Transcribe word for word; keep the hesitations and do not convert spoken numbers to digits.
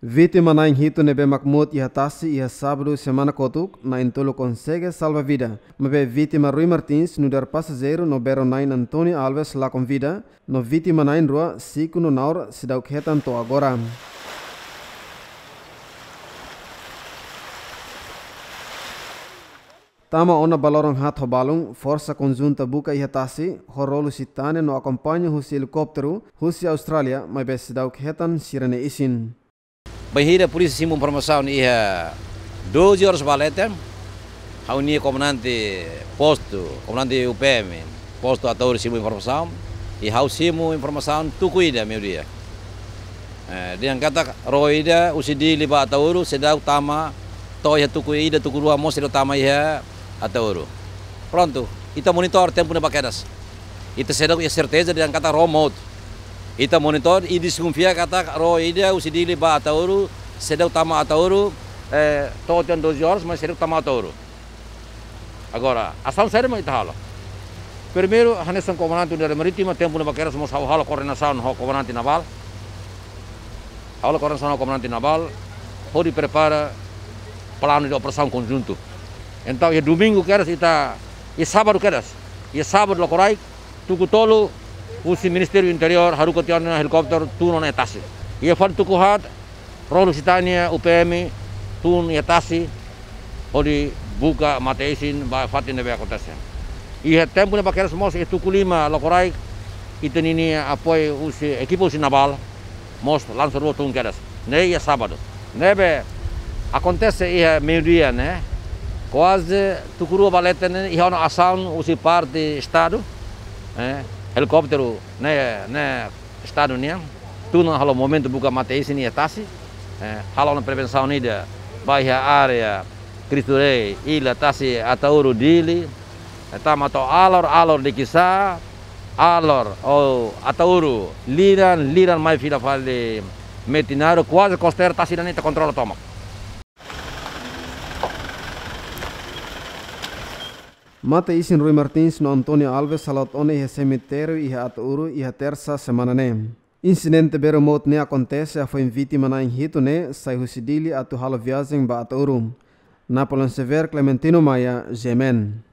Vítima na'in hitu ne'ebé mak mout iha tasi iha sábadu semana kotuk, na'in tolu konsege salva vida. Maibé vítima Rui Martins, nu'udar pasajeiru no bero na'in António Alves lakon vida, no vítima na'in rua, Siku no Naur, seidauk hetan to'o agora. Tama ona ba loron haat ho balun, forsa konjunta buka iha tasi, ho ró Lusitânia no akompaña husi helikópteru, husi Austrália, maibé seidauk hetan sira-nia isin. Bainhira polísia simu informasaun iha doze horas ba leten, ha'u-nia komandante postu, komandante U P M, postu Ataúru simu informasaun, i ha'u simu informasaun tuku ida meiudia. Eh, dehan katak ró ida husi Dili ba Ataúru, seidauk tama to'o iha tuku ida, tuku rua mós seidauk tama iha Ataúru. Prontu, ita monitor tempu ne'ebá kedas. Ita seidauk iha serteza dehan katak ró mout. Ita monitor i deskonfia katak ró ida husi Dili ba Ataúru, seidauk tama Ataúru, eh, to'o tiha ona doze horas, mas seidauk tama Ataúru. Agora, asaun saida mak ita halo? Primeiru, hanesan komandante unidade marítima, tempu ne'ebá kedas mós ha'u halo koordenasaun ho komandante navál. Ha'u halo koordenasaun ho komandante navál, hodi prepara planu de operasaun konjuntu. Entaun, iha domingu kedas ita, iha sábadu kedas, iha sábadu loron rai, tuku tolu, husi Ministériu Interiór haruka tiha ona helikópteru tun ona iha tasi. Iha fali tuku haat, ró Lusitânia, U P M, tun iha tasi, hodi buka mate-isin ba fatin ne'ebé akontese. Iha tempu ne'ebá kedas mós iha tuku lima loron rai, ita-nia apoiu husi ekipa husi navál, mós lansa rua tun kedas. Ne'e iha sábadu. Ne'ebé akontese iha meiudia ne'e, kuaze tuku rua ba leten ne'e, iha ona asaun husi parte Estadu, eh, helikópteru ne'e, ne'e Estadu nian, tun ona halo movimentu buka mate-isin iha tasi, eh, halo ona prevensaun ida ba iha área Cristo Rei, Ila, Tasi, Ataúru, Dili, eh, tama to'o Alor, Alor Likisá, Alor, ou Ataúru, Liran, Liran mai fila fali Metinaro, kuaze kosteira tasi ida-ne'e ita kontrola tomak. Mate-isin Rui Martins no António Alves hala'o ona iha semitériu iha Ataúru iha Tersa semana ne'e. Insidente bero mout ne'e akontese hafoin vítima na'in hitu ne'e sai husi Dili atu halo viajen ba Ataúru. Napoleon Xavier, Clementino Maia, G M N.